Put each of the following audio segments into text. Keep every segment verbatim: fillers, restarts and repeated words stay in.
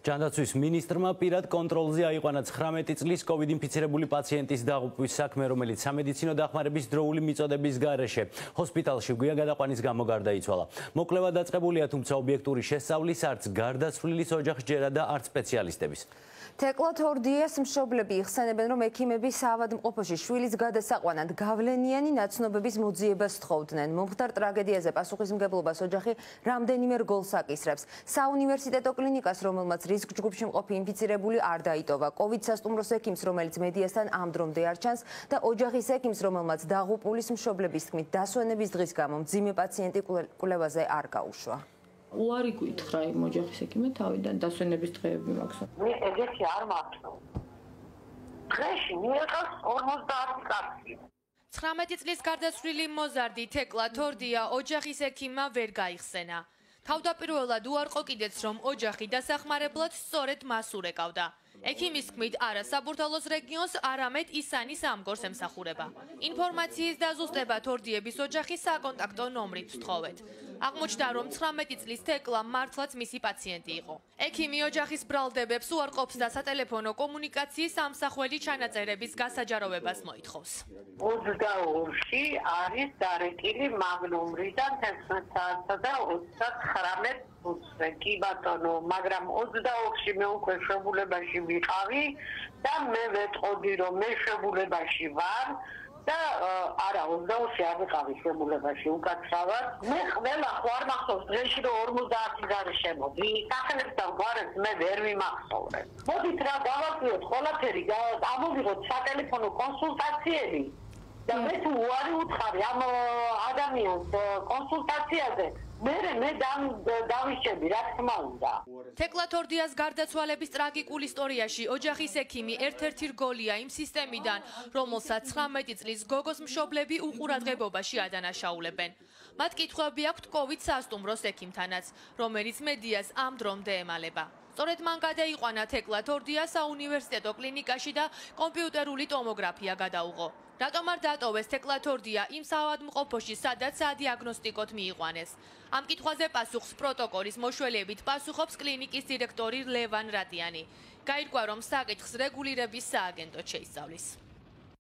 ჯანდაცვის მინისტრმა პირად კონტროლზე აიყვანა ცხრამეტი წლის COVID ინფიცირებული პაციენტის დაღუპვის საქმე, რომელიც სამედიცინო დახმარების დროული მიწოდების გარეშე ჰოსპიტალში გვიან გადაყვანის გამო გარდაიცვალა. მოკლევა დაწყებულია, თუმცა ობიექტური შესწავლის არც გარდაცვლილის ოჯახს ჯერა და არც სპეციალისტების. თეკლა თორდიას მშობლები იხსენებენ, რომ ექიმები საავადმყოფოში შვილის გადასაყვანად გავლენიანი ნაცნობების მოძიებას თხოვდნენ. მომხდარ ტრაგედიაზე პასუხისმგებლობას ოჯახი რამდენიმე რგოლს აკისრებს. საუნივერსიტეტო კლინიკას, რომელმაც რისკ ჯგუფში მყოფი ინფიცირებული არ დაიტოვა, COVID სასტუმროს ექიმს, რომელიც მედიასთან ამ დრომდე არ ჩანს და ოჯახის ექიმს, რომელმაც დაღუპულის მშობლების თქმით დასვენების დღის გამო მძიმე პაციენტი კვლევაზე არ გაუშვა. უარი გითხრა იმ ოჯახის ექიმე თავიდან დასვენების დღეები მაქვს. მე ეგეთი არ მაქვს. დღეში მიიღოს ორმოცდაათი კაცი. ცხრამეტი წლის გარდაცვლილი მოზარდი თეკლა თორდია ოჯახის ექიმმა ვერ გაიხსენა. თავდაპირველად უარყო კიდეც, რომ ოჯახი დასახმარებლად სწორედ მას ურეკავდა. ექიმის თქმით, არა საბურთალოს რეგიონს, არამედ ისანის ამგორს ემსახურება. ინფორმაციის დაზუსტება თორდიების ოჯახის საკონტაქტო ნომრით ვთხოვეთ. აღმოჩნდა, რომ ცხრამეტი წლის თეკლა მართლაც მისი პაციენტი იყო. ექიმი ოჯახის ბრალდებებს უარყოფს და სატელეფონო კომუნიკაციის ამსახველი ჩანაწერების გასაჯაროვებას მოითხოვს. ოცდაორში არის დარეკილი მაგნუმრიდან თერთმეტ საათსა და ოცდათხრამეტ წუთზე. კი ბატონო, მაგრამ ოცდაორში მე უკვე შვებულებაში ვიყავი და მე ვეტყოდი, რომ მე შვებულებაში ვარ. და არა ოცდაორში არ ვიყავი შვებულებაში უკაცრავად. მე ყველა ხო არ მახსოვს დღეში რომ ორმოცდაათი გარე შემოდი. სახელებს და გვარებს მე ვერ ვიმახსოვრე. მოდით რა გავაკლიოთ ყველაფერი, ამოვიღოთ სატელეფონო კონსულტაციები და მე თუ უარი უთხარი ამ ადამიანს კონსულტაციაზე, მე მე დავიშები, რა თქმა უნდა. თეკლა თორდიას გარდაცვალების ტრაგიკულ ისტორიაში ოჯახის ექიმი ერთ-ერთი რგოლია იმ სისტემიდან, რომელსაც ცხრამეტი წლის გოგოს მშობლები უყურადღებობაში ადანაშაულებენ. მათ კითხვები აქვთ COVID სასტუმროს ექიმთანაც, რომელიც მედიას ამ დრომდე ემალება. სწორედ მან გადაიყვანა თეკლა თორდია საუნივერსიტეტო კლინიკაში და კომპიუტერული ტომოგრაფია გადაუღო. რატომ არ დატოვეს თეკლა თორდია იმ საავადმყოფოში, სადაც სადიაგნოსტიკოდ მიიყვანეს? ამ კითხვაზე პასუხს პროტოკოლის მოშველებით პასუხობს კლინიკის დირექტორი ლევან რატიანი. გაირკვა, რომ საკითხს რეგულირების სააგენტოდ შეისწავლის.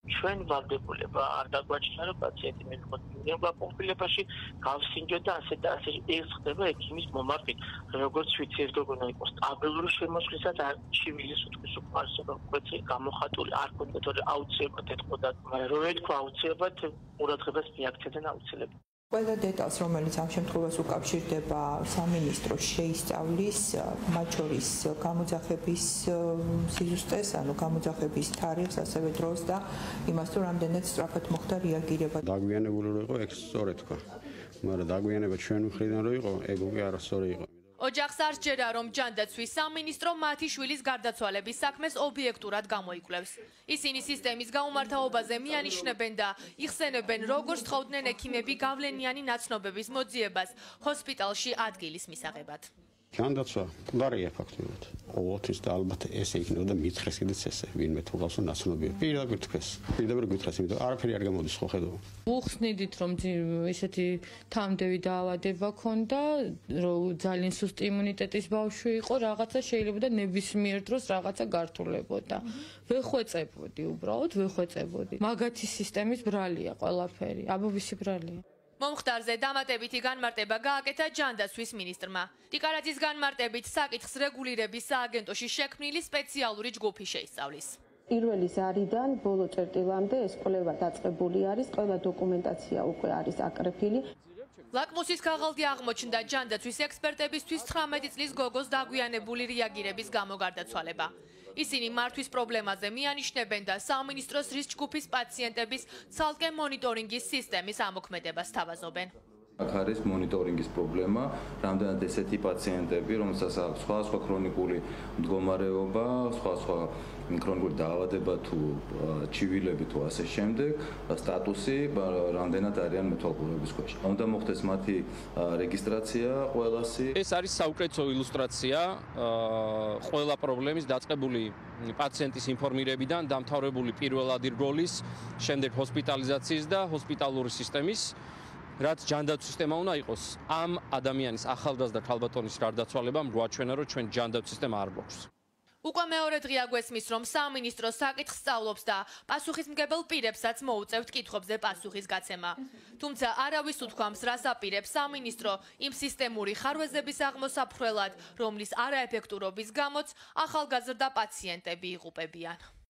ჩვენ ვალდებულება არ დაგვაჩნია, რომ პაციენტი მედიკამენტურ კონფლიქტში გავსინჯოთ და ასე და ასე ეს ხდება ექიმის მომართვით. როგორც ვიცი, ეს როგორ იყო სტაბილური შემოსვლისა და ჩივილის უთქვის უკმარისობა კვეთრი გამოხატული არ კონდეთ, რომ აუცილებლად ეთყოდა, მაგრამ რო ეთქვა აუცილებლად ყურადღებას მიაქცევენ აუცილებლად. ყველა დეტალს, რომელიც ამ შემთხვევას უკავშირდება სამინისტროს შეისწავლის, მათ შორის გამოძახების სიზუსტეს, ანუ გამოძახების თარიღს, ასევე დროს და იმას, თუ რამდენად სწრაფად მოხდა რეაგირება. დაგვიანებული რო იყო, ეგ სწორედ თქვა. მაგრამ დაგვიანება ჩვენ მხრიდან რო იყო, ეგ უკვე არასწორი იყო. ოჯახს არ სჯერა, რომ ჯანდაცვის სამინისტრო მათი შვილის გარდაცვალების საქმეს ობიექტურად გამოიკვლევს. ისინი სისტემის გაუმართავობაზე მიანიშნებენ და იხსენებენ, როგორც თხოვდნენ ექიმები გავლენიანი ნაცნობების მოძიებას ჰოსპიტალში ადგილის მისაღებად. ჯანდაცვა მკვდარია ფაქტობრივად. ოღონდ და ალბათ ესე იქნებოდა მითხრეს კიდეც ესე, ვინმე თუ გავს ნაცნობია. პირდაპირ თქვეს, პირდაპირ გითხრეს, იმიტომ არაფერი არ გამოდის ხო ხედავ. უხსნიდით, რომ ისეთი თამდევი დაავადება ქონდა, რომ ძალიან სუსტი იმუნიტეტის ბავშვი იყო, რაღაცა შეიძლება და ნებისმიერ დროს რაღაცა გართულებოდა. ვეხვეწებოდი უბრალოდ, ვეხვეწებოდი. მაგათი სისტემის ბრალია ყველაფერი, აბობისი ბრალია. მომხდარზე დამატებითი განმარტება გააკეთა ჯანდაცვის მინისტრმა. ტიკარაძის განმარტებით საკითხს რეგულირების სააგენტოში შექმნილი სპეციალური ჯგუფი შეისწავლის. პირველი ზარიდან ბოლო წერტილამდე ეს კვლევა დაწყებული არის, ყველა დოკუმენტაცია უკვე არის აკრეფილი. ლაკმუსის ქაღალდი აღმოჩნდა ჯანდაცვის ექსპერტებისთვის ცხრამეტი წლის გოგოს დაგვიანებული რეაგირების გამო გარდაცვალება. ისინი მართვის პრობლემაზე მიანიშნებენ და სამინისტროს რისკ ჯგუფის პაციენტების ცალკე მონიტორინგის სისტემის ამოქმედებას სთავაზობენ. აქ არის მონიტორინგის პრობლემა, რამდენად ესეთი პაციენტები, რომელსაც აქვს სხვა სხვა ქრონიკული მდგომარეობა, სხვა სხვა ქრონიკული დაავადება თუ ჩივილები თუ ასე შემდეგ, სტატუსი რამდენად არიან მეთვალყურების ქვეშ. უნდა მოხდეს მათი რეგისტრაცია ყველასი. ეს არის საუკეთესო ილუსტრაცია ყველა პრობლემის დაწყებული პაციენტის ინფორმირებიდან დამთავრებული პირველადი რგოლის, შემდეგ ჰოსპიტალიზაციის და ჰოსპიტალური სისტემის რაც ჯანდაცვის სისტემა უნდა იყოს, ამ ადამიანის ახალგაზრდა ქალბატონის გარდაცვალებამ გვაჩვენა, რომ ჩვენ ჯანდაცვის სისტემა არ გვაქვს. უკვე მეორე დღეა გვესმის, რომ სამინისტრო საკითხს სწავლობს და პასუხისმგებელ პირებსაც მოუწევთ კითხვებზე პასუხის გაცემა. თუმცა არავის უთქვამს, რას აპირებს სამინისტრო იმ სისტემური ხარვეზების აღმოსაფრთხელად, რომლის არაეფექტურობის გამოც ახალგაზრდა პაციენტები იღუპებიან.